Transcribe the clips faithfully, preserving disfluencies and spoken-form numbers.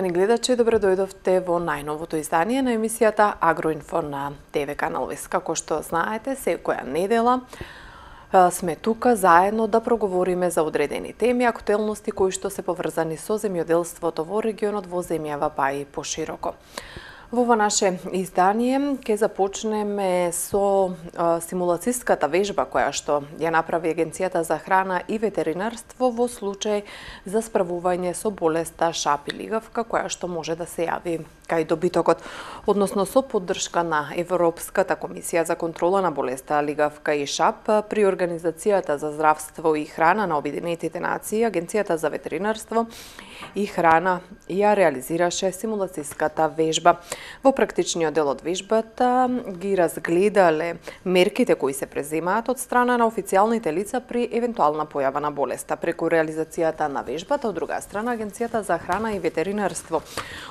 Почитувани гледачи, добре дојдовте во најновото издание на емисијата Агроинфо на ТВ Канал Вест. Како што знаете, секоја недела сме тука заедно да проговориме за одредени теми, актуелности кои што се поврзани со земјоделството во регионот, во земјава, па и пошироко. Во ова наше издание ќе започнеме со а, симулацијската вежба која што ја направи Агенцијата за храна и ветеринарство во случај за справување со болеста шап и лигавка, која што може да се јави кај добитокот, односно со поддршка на Европската комисија за контрола на болеста лигавка и шап при Организацијата за здравство и храна на Обединетите нации. Агенцијата за ветеринарство и храна ја реализираше симулацијската вежба. Во практичниот дел од вежбата ги разгледале мерките кои се преземаат од страна на официјалните лица при евентуална појава на болеста. Преку реализацијата на вежбата, од друга страна, Агенцијата за храна и ветеринарство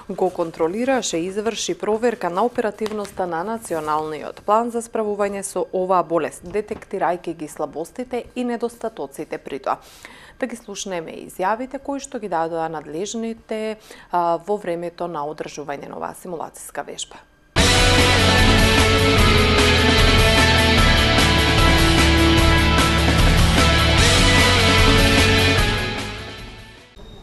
го контролираше и изврши проверка на оперативноста на националниот план за справување со оваа болест, детектирајќи ги слабостите и недостатоците при тоа. Да ги слушнеме изјавите кои што ги дадоа надлежните а, во времето на одржување на оваа симулацијска вежба.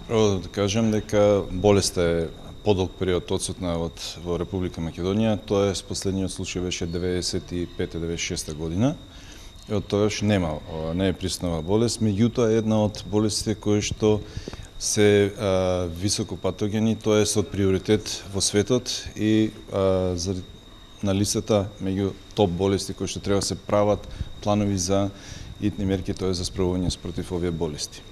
Прво да кажем дека болеста е подолг период одсутна од во Република Македонија, тоа е последниот случај беше деветдесет и пета деветдесет и шеста година. И од тогаш нема, не е присутна болест, меѓутоа е една од болестите кои што се а, високо патогени, тоа е од приоритет во светот и а, за, на листата меѓу топ болести кои што треба се прават планови за итни мерки, тоа е за справување против овие болести.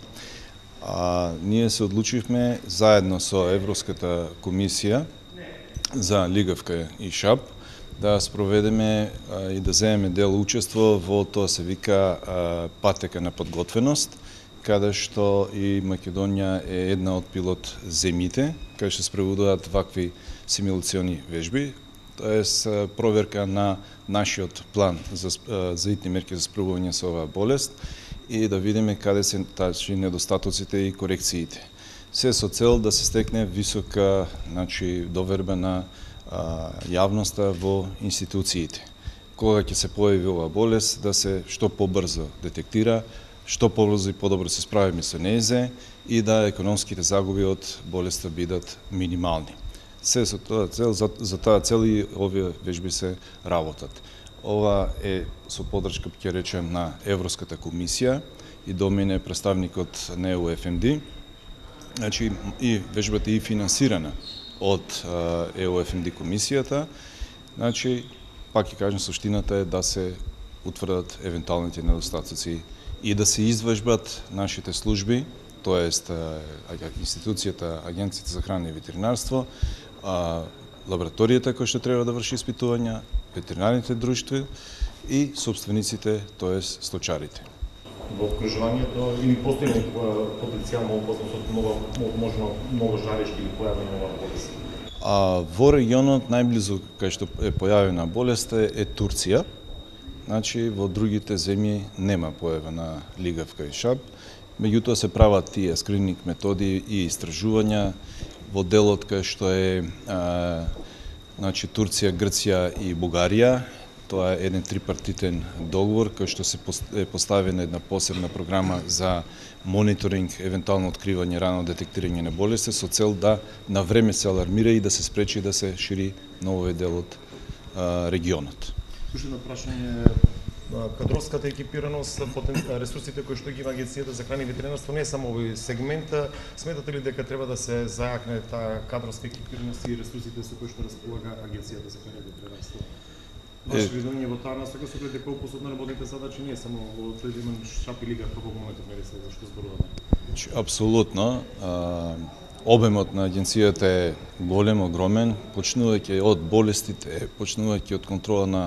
А, ние се одлучивме заедно со Европската комисија за лигавка и шап да спроведеме а, и да земеме дел учество во тоа се вика а, патека на подготвеност, каде што и Македонија е една од пилот земите, каде што спроведуваат вакви симулациони вежби, тоа е проверка на нашиот план за, за итни мерки за справување со оваа болест и да видиме каде се тачи недостатоците и корекциите. Се со цел да се стекне висока, значи, доверба на а, јавноста во институциите. Кога ќе се појави оваа болест, да се што побрзо детектира, што побрзо и подобро се справиме со незе и да економските загуби од болеста бидат минимални. Се со тоа цел, за, за таа цел и овие вежби се работат. Ова е со поддршка, ќе речем, на Европската комисија и до мене представникот на Е У Еф Ем Ди. Значи, и вежбата е финансирана од Е У Еф Ем Ди комисијата. Значи, пак ќе кажем, суштината е да се утврдат евентуалните недостатоци и да се извежбат нашите служби, тоест институцијата, Агенцијата за храна и ветеринарство, лабораторијата која што треба да врши испитувања, ветеринарните друштва и собствениците, тоест сточарите. Во обкружувањето или постои потенцијална опасност од нова, можно многу жарешки или појавање на оваа болест? А во регионот најблизу кај што е појавена болеста е Турција. Значи во другите земји нема појава на лигавка и шап. Меѓутоа се прават тие скрининг методи и истражувања во делот кај што е а, значи Турција, Грција и Бугарија. Тоа е еден трипартитен договор кој што се е поставена една посебна програма за мониторинг, евентуално откривање, рано детектирање на болести со цел да на време се алармира и да се спречи да се шири на овој дел од а, регионот. Уште прашање, кадровската екипираност, ресурсите кои што ги има Агенцијата за храна и ветеринарство не е само овој сегмент. Сметате ли дека треба да се зајакне таа кадровска екипираност и ресурсите со кои што располага Агенцијата за храна и ветеринарство? Ваше виждање во таа насока со гледа колку се одработните задачи не е само во тој да имам шап и лига како моментот не се за што зборуваме? Апсолутно. Обемот на агенцијата е голем, огромен, почнувајќи од болестите, почнувајќи од контрола на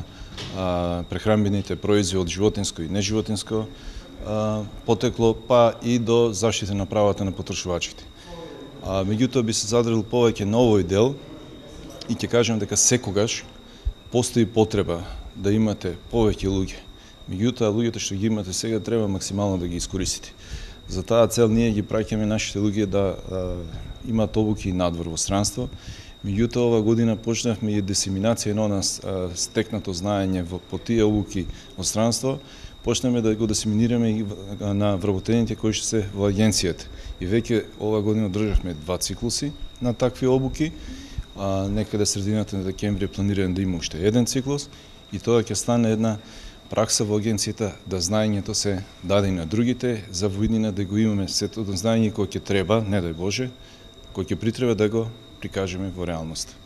а, прехранбените производи од животинско и неживотинско а, потекло, па и до заштита на правата на потрошувачите. А, меѓутоа би се задрил повеќе на овој дел и ќе кажем дека секогаш постои потреба да имате повеќе луѓе. Меѓутоа, луѓето што ги имате сега треба максимално да ги искористите. За таа цел ние ги праќаме нашите луѓе да а, имаат обуки надвор во странство. Меѓутоа, ова година почнавме и дисеминација на нас а, стекнато знаење во, по тие обуки во странство. Почнеме да го дисеминираме и на вработените кои што се во агенцијата. И веќе ова година државме два циклуси на такви обуки. А, некаде средината на декември е планиран да има уште еден циклус и тоа ќе стане една пракса во агенцијата да знаењето се даде и на другите, за воиднина да го имаме сето знаење кој ќе треба, не дај Боже, кој ќе притреба да го прикажеме во реалност.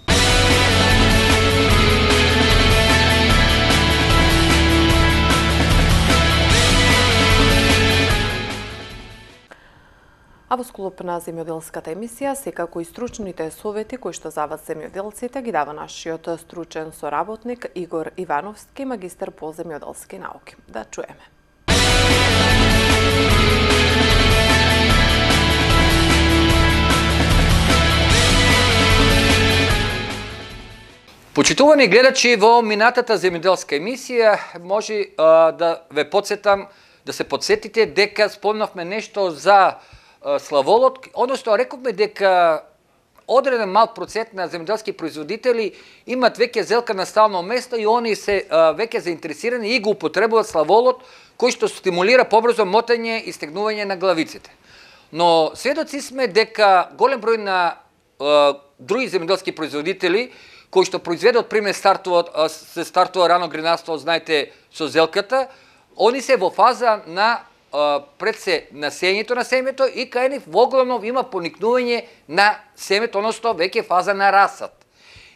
А во склоп на земјоделската емисија, секако и стручните совети кои што за вас земјоделците ги дава нашиот стручен соработник Игор Ивановски, магистар по земјоделски науки. Да чуеме. Почитувани гледачи, во минатата земјоделска емисија може а, да ве подсетам, да се подсетите дека спомнавме нешто за славолот, односно рековме дека одреден мал процент на земјоделски производители имат веќе зелка на стално место и они се а, веќе заинтересирани и го употребуваат славолот, кој што стимулира побрзо мотање и стегнување на главиците. Но сведоци сме дека голем број на а, други земјоделски производители кои што произведат, пример, стартуваат, се стартува рано гринарство, знаете, со зелката, они се во фаза на пред се на сењето на семето и кај нив воглавно има поникнување на семето, односно веќе фаза на расад.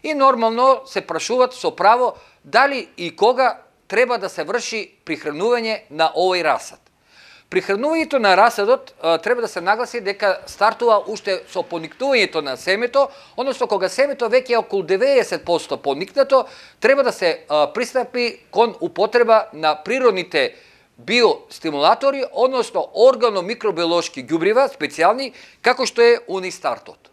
И нормално се прашуваат со право дали и кога треба да се врши прихранување на овој расад. Прихранувањето на расадот треба да се нагласи дека стартува уште со поникнувањето на семето, односно кога семето веќе е околу деветдесет проценти поникнато, треба да се а, пристапи кон употреба на природните биостимулатори, односно органо-микробиолошки ѓубрива, специјални, како што е Унистартот.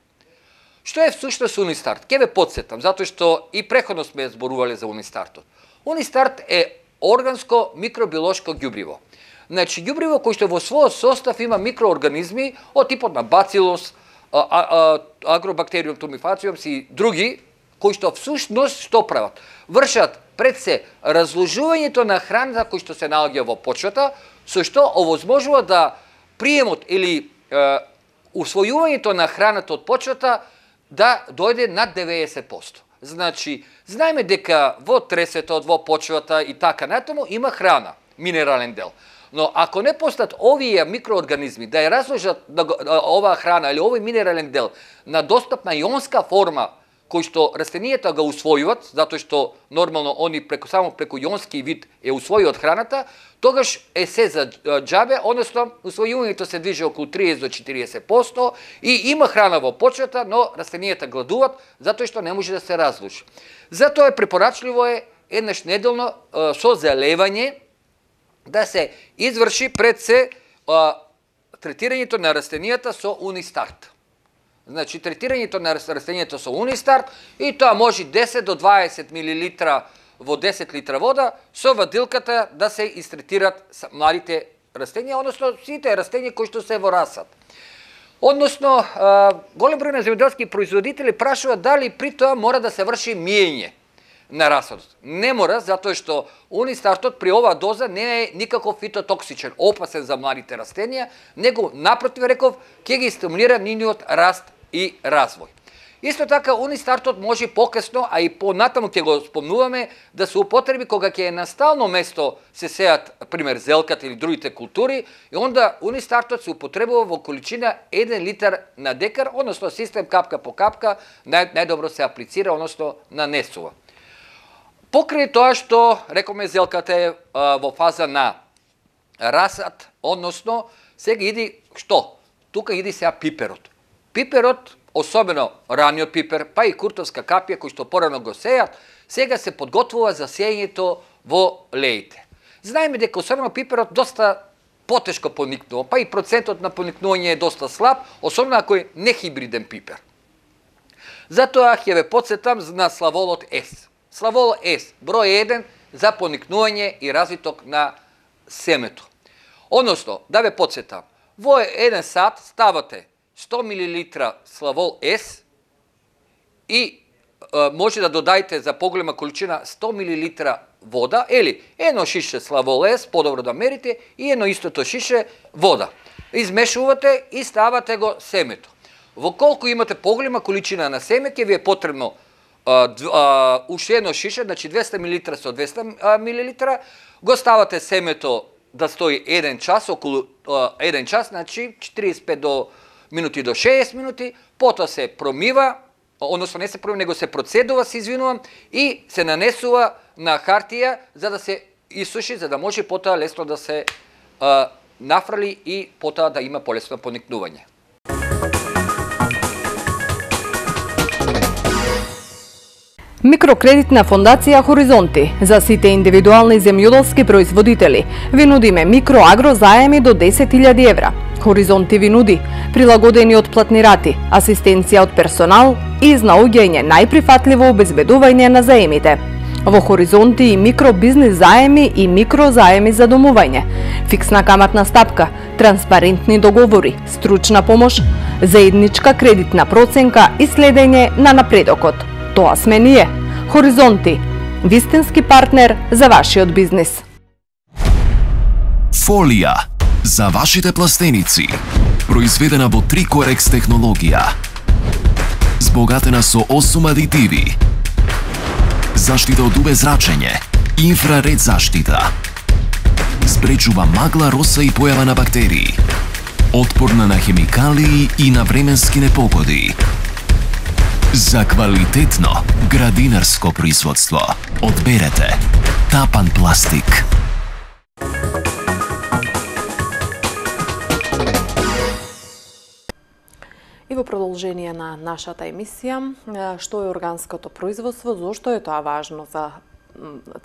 Што е всушност Унистарт? Ке ве подсетам, затоа што и преходно сме зборувале за Унистартот. Унистарт е органско микробиолошко ѓубриво. Значи, ѓубриво кој што во својот состав има микроорганизми од типот на бацилус, агробактериум тумифациум и други, кои што всушност што прават? Вршат пред се разложувањето на храната кој што се наоѓа во почвата, со што овозможува да приемот или е, усвојувањето на храната од почвата да дојде над деветдесет проценти. Значи, знаеме дека во тресетот, во почвата и така натаму има храна, минерален дел. Но ако не постат овие микроорганизми да ја разложат оваа храна или овој минерален дел на достапна јонска форма, кој што растенијата го усвојуваат, затоа што нормално они преку само преку јонски вид е усвојуваат храната, тогаш е се за џабе, односно усвојувањето се движи околу триесет до четириесет проценти и има храна во почвата, но растенијата гладуваат затоа што не може да се разложи. Затоа е препорачливо е еднаш неделно со залевање да се изврши пред се а, третирањето на растенијата со Унистарт. Значи, третирањето на растенијата со Унистарт и тоа може десет до дваесет милилитра во десет литра вода со вадилката да се истретират младите растенија, односно сите растенија кои што се во расад. Односно, а, голем број на земјоделски производители прашуваат дали при тоа мора да се врши миење на расадот. Не мора, затоа што Унистартот при оваа доза не е никако фитотоксичен, опасен за младите растенија, него напротив реков ќе ги стимулира нивниот раст и развој. Исто така Унистартот може покасно, а и понатаму ќе го спомнуваме, да се употреби кога ќе е на стално место се сеат, пример, зелката или другите култури, и онда Унистартот се употребува во количина еден литар на декар, односно систем капка по капка, нај, најдобро се аплицира, односно нанесува. Покрај тоа што, рекоме, зелката е а, во фаза на расад, односно, сега иди, што? Тука иди сега пиперот. Пиперот, особено раниот пипер, па и куртовска капија, кој што порано го сејат, сега се подготвува за сејањето во леите. Знаеме дека особено пиперот доста потешко поникнува, па и процентот на поникнување е доста слаб, особено ако е нехибриден пипер. Затоа ќе ве подсетам на славолот С. Славол С, број еден за поникнување и развиток на семето. Односно, да ве подсетам, во еден сат ставате сто милилитра Славол С и е, може да додајте за поголема количина сто милилитра вода, или едно шише Славол С, подобро да мерите, и едно истото шише вода. Измешувате и ставате го семето. Во колку имате поголема количина на семе, ќе ви е потребно а, а, уште едно шише, значи двеста милилитра со двеста милилитра, го ставате семето да стои еден час, околу а, еден час, значи четиридесет и пет до минути до шеесет минути, потоа се промива, односно не се промива, него се процедува, се извинувам, и се нанесува на хартија за да се исуши, за да може потоа лесно да се а, нафрали и потоа да има полесно поникнување. Микрокредитна фондација Хоризонти за сите индивидуални земјоделски производители ви нудиме микроагро заеми до десет илјади евра. Хоризонти ви нуди прилагодени отплатни рати, асистенција од персонал и изнаоѓање најприфатливо обезбедување на заемите. Во Хоризонти и микробизнис заеми и микрозаеми за домување, фиксна каматна стапка, транспарентни договори, стручна помош, заедничка кредитна проценка и следење на напредокот. Тоа сме ние. Хоризонти, вистински партнер за вашиот бизнис. Фолија за вашите пластеници, произведена во Трикорекс технологија, збогатена со осум адитиви, заштита од убезрачење, инфраред заштита, спречува магла, роса и појава на бактерии, отпорна на хемикалии и на временски непогоди. За квалитетно градинарско производство одберете Тапан пластик. И во продолжение на нашата емисија, што е органското производство, зошто е тоа важно за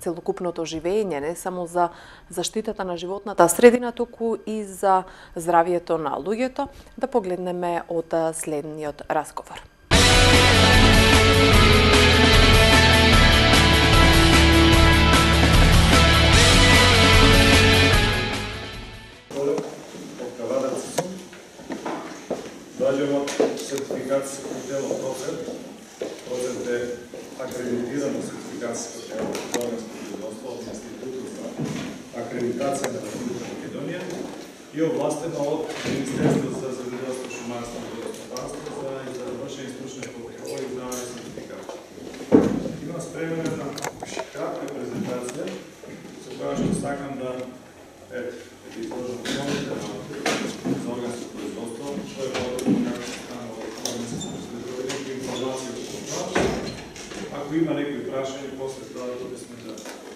целокупното живење, не само за заштитата на животната средина, туку и за здравието на луѓето, да погледнеме од следниот разговор. Доаѓам од сертификацијско тело Процент. Процент е акредитирано сертификацијско тело за органско производство од Институтот за акредитација на Република Македонија и овластено од Министерството за земјоделство, шумарство и водостопанство за извршење стручни контрол и издавање сертификати. Имам спремена една кратка презентација со која што сакам да ето, да изложам основите за органско производство, што е подобро како се стана од органско производство, информација од тоа. Ако има некои прашања, после тоа тука сме да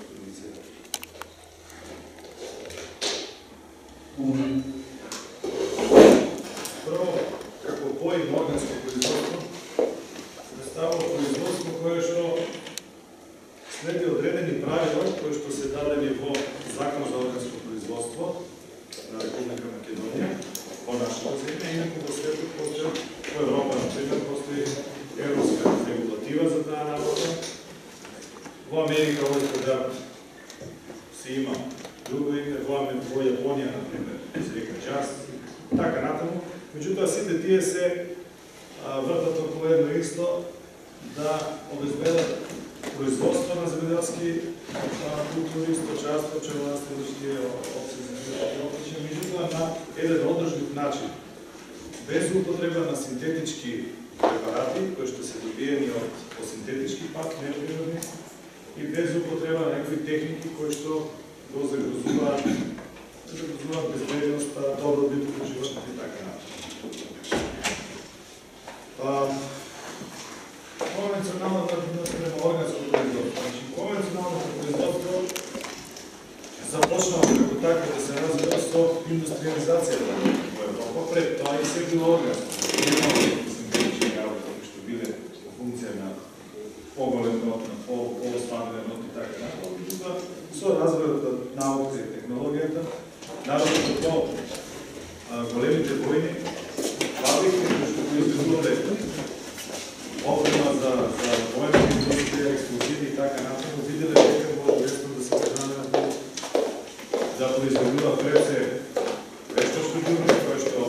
комуницираме. Прво, како поим органско производство, се представува производство кое што следи одредени правила кои што се дадени во Закон за органско производство на Република Македонија, по нашата земја, инаку во светот постои, во Европа, например, постои европска регулатива за таа работа. Во Америка овој продават се има друго име, во Јапонија, например, се вика джаз, така натаму. Меѓутоа, сите тие се вртат околу едно исто да обезбедат производство на земјоделски култури, сточарство, пчеларство, тие опции за земјоделски, меѓутоа на еден одржлив начин, без употреба на синтетички препарати кои што се добиени од по синтетички пат, неприродни, и без употреба на некои техники кои што го загрозуваат загрозуваат безбедноста, добробит на животните и така натаму. Конвенционалната према органско производство. Значи, конвенционалното производство започнало како така да се развива со индустриализацијата во Европа. Пред тоа и се било органско. Немало синтетички работи кои што биле во функција на поголем род, на полустварен род и така натаму. Меѓутоа, со развојот на науката и технологијата, наравно до големите војни, фабрики кои што произведувале опрема за, за војна индустрија, експлозиви и така натаму, виделе дека може лесно да се пренамени да произведува пред се веќе вештачко ѓубриво кое што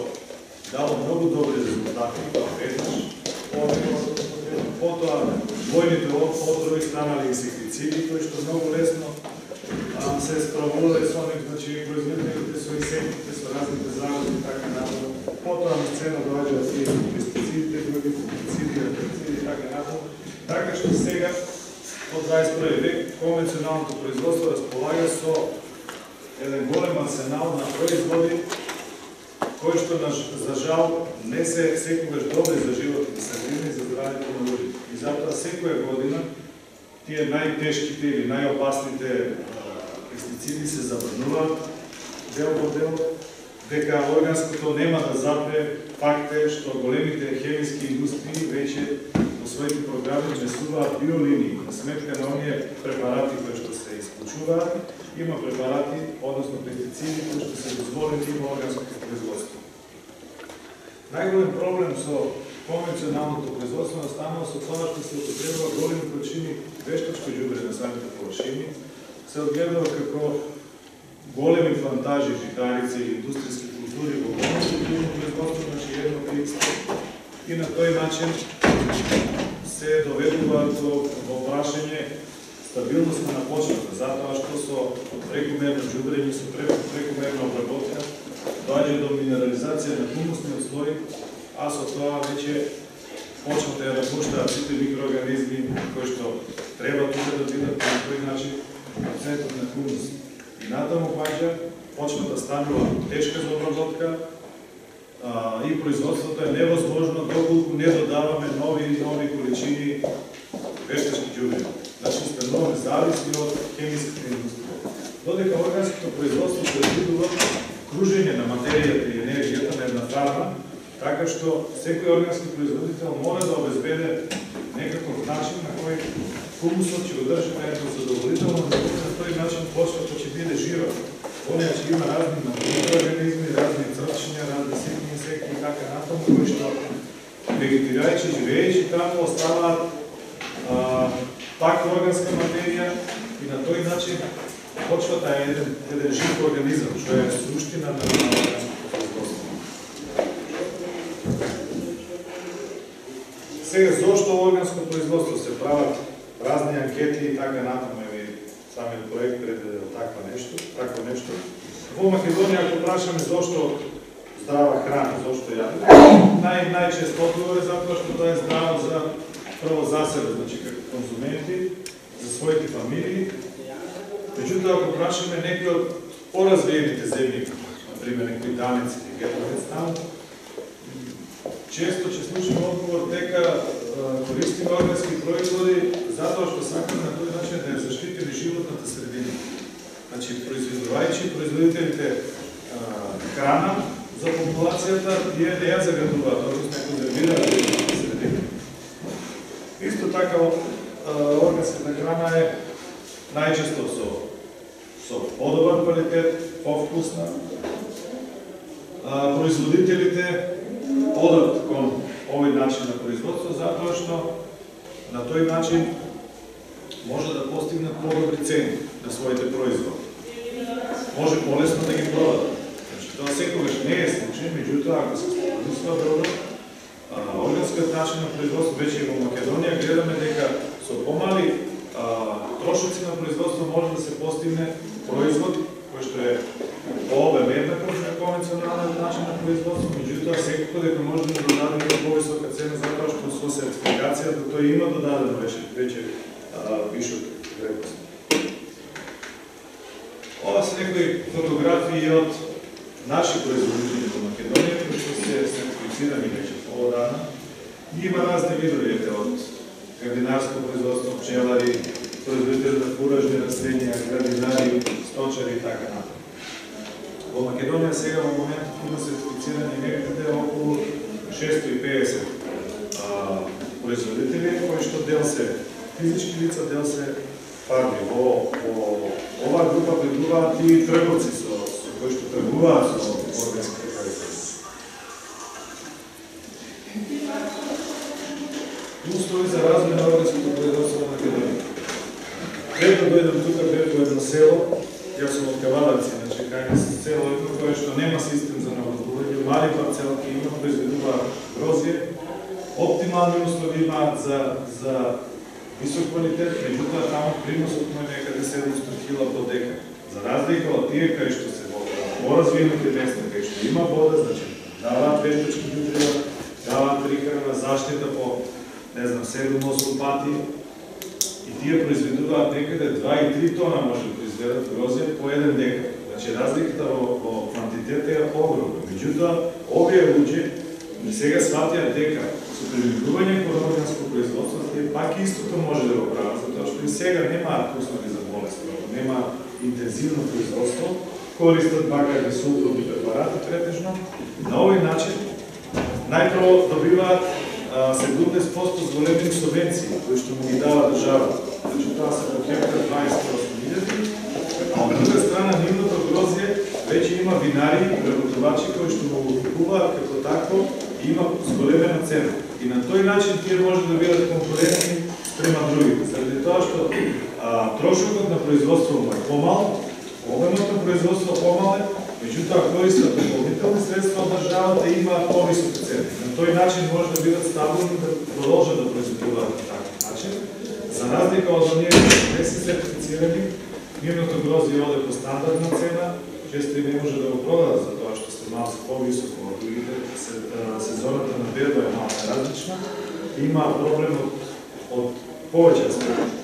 дало многу добри резултати, веднаш, потоа војните отрови станали инсектициди кои што многу лесно се справувале со нив, значи производителите со инсектите, со разните загози и така натаму. Потоа на сцена доаѓаат и пестицидите, други фунгициди, хербициди и така натаму. Така што сега од дваесет и први век конвенционалното производство располага со еден голем арсенал на производи кои што за жал не се секогаш добри за животните средини и за здравјето на луѓето. И затоа секоја година тие најтешките или најопасните пестициди се забрануваат дел по дел, дека органското нема да запре. Факт е што големите хемиски индустрии веќе во своите програми внесуваат биолинии на сметка на оние препарати кои што се исклучуваат. Има препарати, односно пестициди кои што се дозволени во органското производство. Најголем проблем со конвенционалното производство настанува со тоа што се употребува големи количини вештачко ѓубриво на самите површини, се одгледува како големи плантажи житарици и индустријски култури во конвенционално производство, значи едно кликство, и на тој начин се доведува до во прашање стабилноста на почвата, затоа што со прекумерно ѓубрење, со прекумерна обработка доаѓа до минерализација на хумусниот слој, а со тоа веќе почвата ја напуштаат сите микроорганизми кои што треба тука да бидат на тој начин процентот на хумус. И натаму паѓа, почвата станува тешка за обработка а, и производството е невозможно доколку не додаваме нови и нови количини вештачки ѓубриво. Значи стануваме зависи од хемиската индустрија. Додека органското производство предвидува кружење на материјата и енергијата на една фарма, така што секој органски производител мора да обезбеде некаков начин на кој хумусот ќе одржи на едно задоволително, на тој начин почвата ќе биде жива. Оние ќе има разни микроорганизми, разни црчиња, разни ситни инсекти и така натаму, кои што вегетирајќи, живеејќи таму оставаат а, таква органска материја и на тој начин почвата е еден, еден жив организам, што е суштина на органското производство. Сега, зошто органско производство се прават разни анкети и така натаму, и самиот проект предвидел таква нешто, такво нешто. Во Македонија, ако прашаме зошто здрава храна, зошто јадење, нај најчесто одговор е затоа што тоа е здраво за прво за себе, значи како конзументи, за своите фамилии. Меѓутоа, ако прашаме некои од поразвиените земји, например некои данеци, Германистан, често ќе слушаме одговор дека користиме органски производи затоа што сакаме на тој начин да ја заштитиме животната средина. Значи, произведувајќи производителите а, храна за популацијата, тие не ја загадуваат, односно ја конзервираат животната средина. Исто така, органската храна е најчесто со, со подобар квалитет, повкусна. А, производителите одат кон овој начин на производство, затоа што на тој начин може да постигнат подобри цени на своите производи. Може полесно да ги продадат. Значи, тоа секогаш не е случај, меѓутоа, ако се помисла добро, органскиот начин на производство веќе во Македонија гледаме дека со помали а, трошоци на производство може да се постигне производ кој што е по обем еднаков на конвенционалниот начин на производство, меѓутоа секако дека може да додадеме до повисока цена затоа што со сертификацијата тој има додадено веќе веќе вишок вредност. Ова се некои фотографии од наши производители во Македонија кои што се сертифицирани веќе поодамна. Има разни видови од градинарско производство, пчелари, производители на фуражни растенија, градинари, сточари и така натаму. Во Македонија сега во моментот има сертифицирани некаде околу шестоста и педесет а, производители, кои што дел се физички лица, дел се фарми. Во, во оваа група влегуваат и трговци со, со кои што тргуваат со органски производство. Услови за развој на органското производство во Македонија. Пред да дојдам тука, бев во едно село, јас сум од Кавадавци, значи кај нас село едно кое што нема систем за парцелки, има произведува грозје, оптимални услови имаат за, за висок квалитет, меѓутоа таму приносот му е некаде седумстотини кила по декар. За разлика од тие кај што се во поразвинати места, кај што има вода, значи даваат вештачки ѓубрива, даваат прихрана, заштита по, не знам, седум-осум пати, и тие произведуваат некаде два и три тона може да произведат грозје по еден декар. Значи разликата во, во квантитет е огромна. Меѓутоа, овие луѓе сега сватија дека со привикување кон органско производство, тие пак истото може да го прават, затоа што и сега немаат услови за болест, нема интензивно производство, користат бакари сулфурни препарати претежно. На овој начин најпрво добиваат седумдесет проценти зголемени субвенции кои што му ги дава држава. Значи тоа се по хектар дваесет и осум илјади, а од друга страна нивното грозје веќе има винари и преработувачи кои што го купуваат како такво и има зголемена цена. И на тој начин тие може да бидат конкурентни спрема другите. Заради тоа што а, трошокот на производство му е помал, обемот на производство помале, меѓутоа користат дополнителни средства од државата и имаат повисоки цени. На тој начин може да бидат стабилни да продолжат да произведуваат на таков начин. За разлика од оние кои не се сертифицирани, нивното грозје оде по стандардна цена, често и не може да го продадат за тоа што се малку повисоко од другите, сезоната на берба е малку различна, има проблем од, од повеќе аспекти.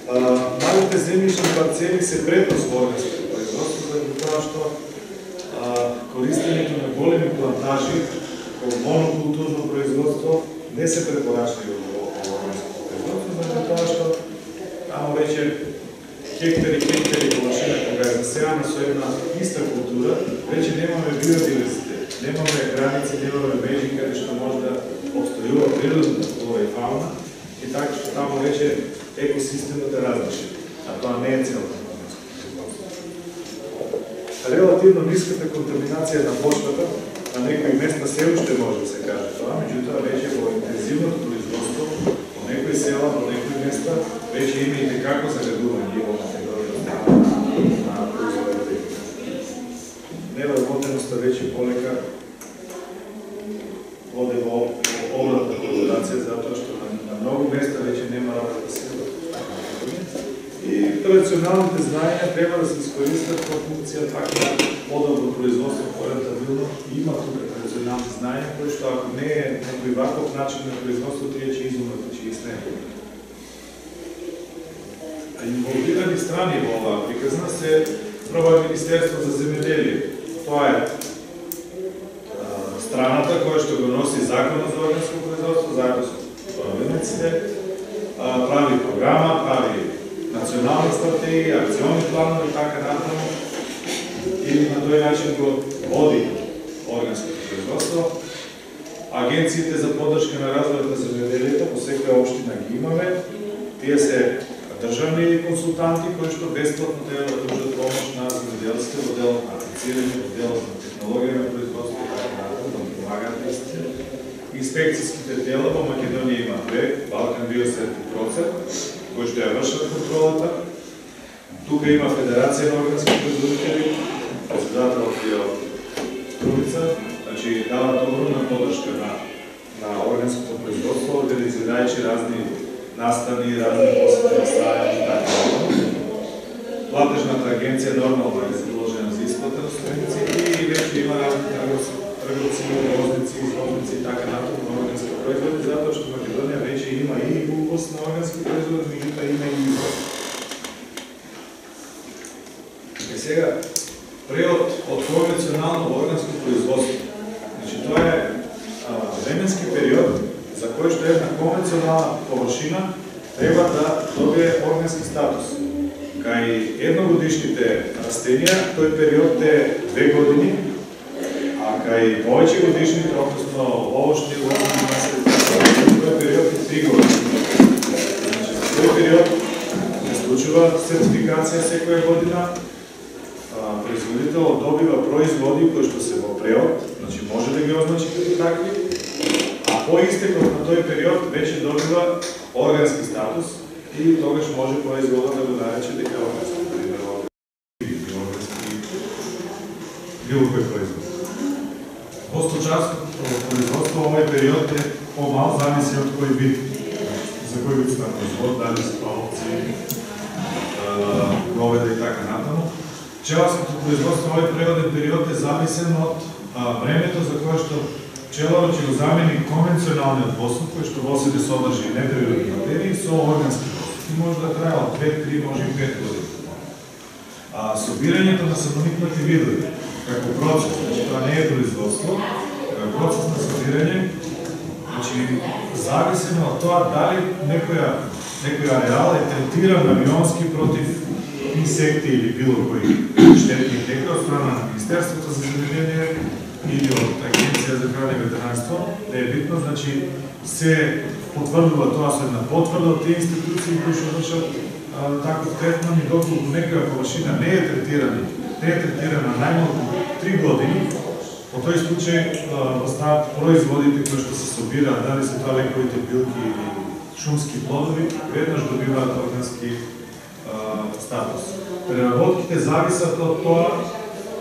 Малите земјишни парцели се предност во органското производство, заради тоа што а, користењето на големи плантажи во монокултурно производство не се препорачливи во органското производство, заради тоа што тамо веќе хектари, хектари површина кога е засејана со една иста култура, веќе немаме биодиверзитет, немаме граници, немаме межи каде што може да обстојува природната флора и фауна, и така што тамо веќе екосистемот е различен, а тоа не е целта на органското производство. Релативно ниската контаминација на почвата на некои места се уште може да се каже тоа, меѓутоа веќе во интензивното производство, во некои села, во некои места, веќе има и некако загадување во Македонија на производите. Невработеноста веќе полека оде во обратна конотација, затоа што на, на многу места веќе нема работа сила. И традиционалните знаења треба да се искористат во функција пак на подобро производство, по-рентабилно. Има тука традиционални знаења кои што ако не е некој ваков начин на производство, тие ќе изумрат, ќе ги снемат. Инволвирани страни во оваа приказна се прво Министерство за земјоделие. Тоа е страната која што го носи законот за органско производство, заедно со правилниците, прави програма, прави национална стратегија, акциони планови и така натаму, и на тој начин го води органското производство. Агенциите за поддршка на развојот на земјоделието по секоја општина ги имаме. Тие се државни консултанти кои што бесплатно треба да пруžат помош на земјоделците во делот на аплицирање, во делот на технологија на производство и така натаму, да помагаат истите. Инспекцијските тела во Македонија има две, Балкан Биосертипроцент, кои што ја вршат контролата. Тука има Федерација на органски производители, председателот е од Трубица, значи дават огромна поддршка на, на органското производство, организирајќи разни настани, разни посети на стаја и така. Платежната агенција нормално е задолжена за исплата на субвенции и веќе има разни трговци, возници, извозници и така натаму на органски производи, затоа што Македонија веќе има и увоз на органски производи, меѓутоа има и извоз. И сега, преод од конвенционално органско производство. Значи, тоа е а, временски период за кој што една конвенционална површина треба да добие органски статус. Кај едногодишните растенија, тој период е две години, а кај повеќе годишните, односно овошни, лозни, маслини, тој период е три години. Значи, за тој период се случува сертификација секоја година, производителот добива производи кои што се во преод, значи може да ги означи како такви, а по истекот на тој период веќе добива органски статус и тогаш може производот да го нарече дека органски, пример, органски било кој производ. Во сточарското производство овој период е помал, зависи од кој вид, за кој вид на производ, дали се овци, говеда и така натаму. Пчеларското производство овој природен период е зависен од времето за кое што пчеларот ќе го замени конвенционалниот воздух, кој што во себе содржи неприродни материи со органски воздух. И може да трае од две, три, може и пет години. А собирањето на самоникнати видови како процес, значи тоа не е производство, како процес на собирање, значи зависено од тоа дали некоја некоја ареал е третиран авионски против инсекти или било кои штетни тека од страна на Министерството за земјоделие или од Агенција за храна и ветеринарство, да е битно, значи се потврдува тоа со една потврда од тие институции кои што вршат таков третман и доколку некоја површина не е третирана, не е третирана најмалку три години, во тој случај остават производите кои што се собираат, дали се тоа лековите билки или шумски плодови, веднаш добиваат органски статус. Преработките зависат од тоа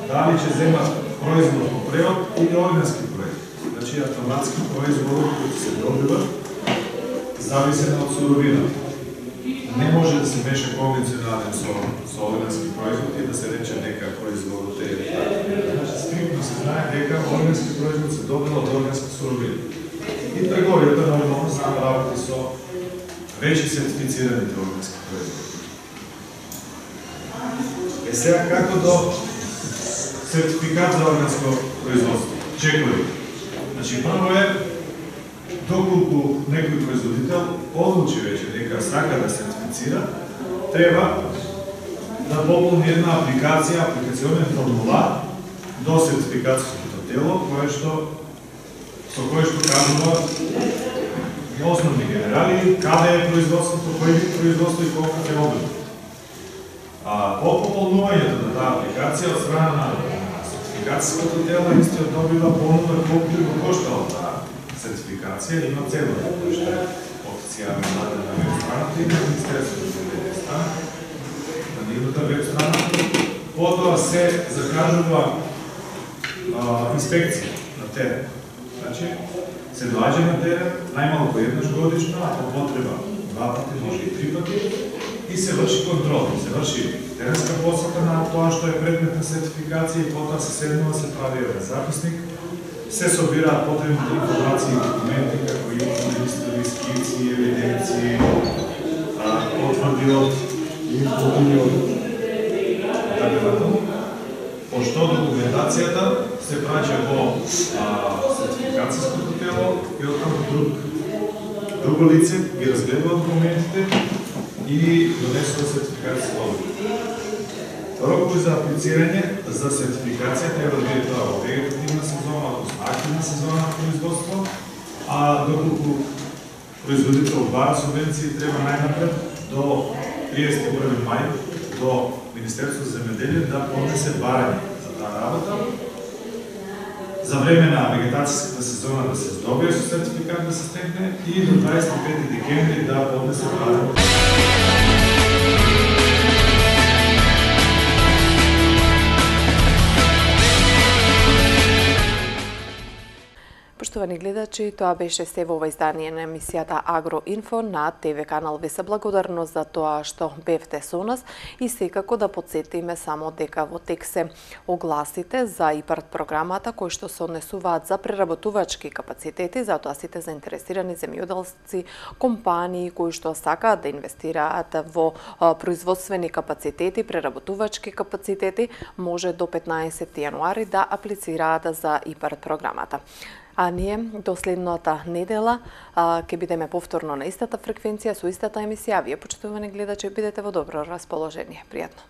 дали ќе земат производ по превод или органски проект. Значи автоматски производот кои се добиват зависен од суровината. Не може да се меша конвенционален со, со органски производ и да се рече дека производот е така. Значи стриктно се знае дека органски производ се добива од органска суровина. И трговијата нормално се работи со веќе сертифицираните органски производи. Е сега како до сертификат за органско производство? Чекови. Значи прво е доколку некој производител одлучи веќе дека сака да сертифицира, треба да пополни една апликација, апликационен формулар до сертификацијското тело, кое што со кое што кажува основни генерали, каде е производството, кој вид производство и колку ќе обема. А по пополнувањето на таа апликација од страна на сертификацијското тело истиот добива понуда колку ќе го коштала таа сертификација, има цена кој што е официјално дадена на веб страната и на Министерството за земјоделие страна, на нивната веб страна. Потоа се закажува а, инспекција на терен. Значи, се доаѓа на терен најмалку еднаш годишно, а по потреба два пати, може и три пати, и се врши контрол, се врши теренска посета на тоа што е предмет на сертификација и потоа се седнува, се прави еден записник, се собираат потребните информации и документи, како и листови, скици, евиденции, потврди од инфотини од така натаму. Пошто документацијата се праќа во сертификацијското тело и оттаму друг друго лице ги разгледува документите и донесува сертификација одлука. Рокови за аплицирање за сертификација треба да биде тоа во вегетативна сезона, односно активна сезона на производство, а доколку производител бара субвенции треба најнапред до триесет и први мај до Министерството за земјоделие да поднесе барање за таа работа. За време на вегетацијската сезона да се здобие со сертификат да се стекне и до дваесет и пети декември да поднесе барање. Поштовани гледачи, тоа беше се во ова издание на емисијата Агроинфо на ТВ канал. Ви се благодарност за тоа што бевте со нас и секако да подсетиме само дека во текст се огласите за ИПАРД програмата кои што се однесуваат за преработувачки капацитети, затоа сите заинтересирани земјоделци, компании кои што сакаат да инвестираат во производствени капацитети, преработувачки капацитети, може до петнаесети јануари да аплицираат за ИПАРД програмата. А ние до следната недела ќе бидеме повторно на истата фреквенција со истата емисија. Вие, почитувани гледачи, бидете во добро расположение. Пријатно.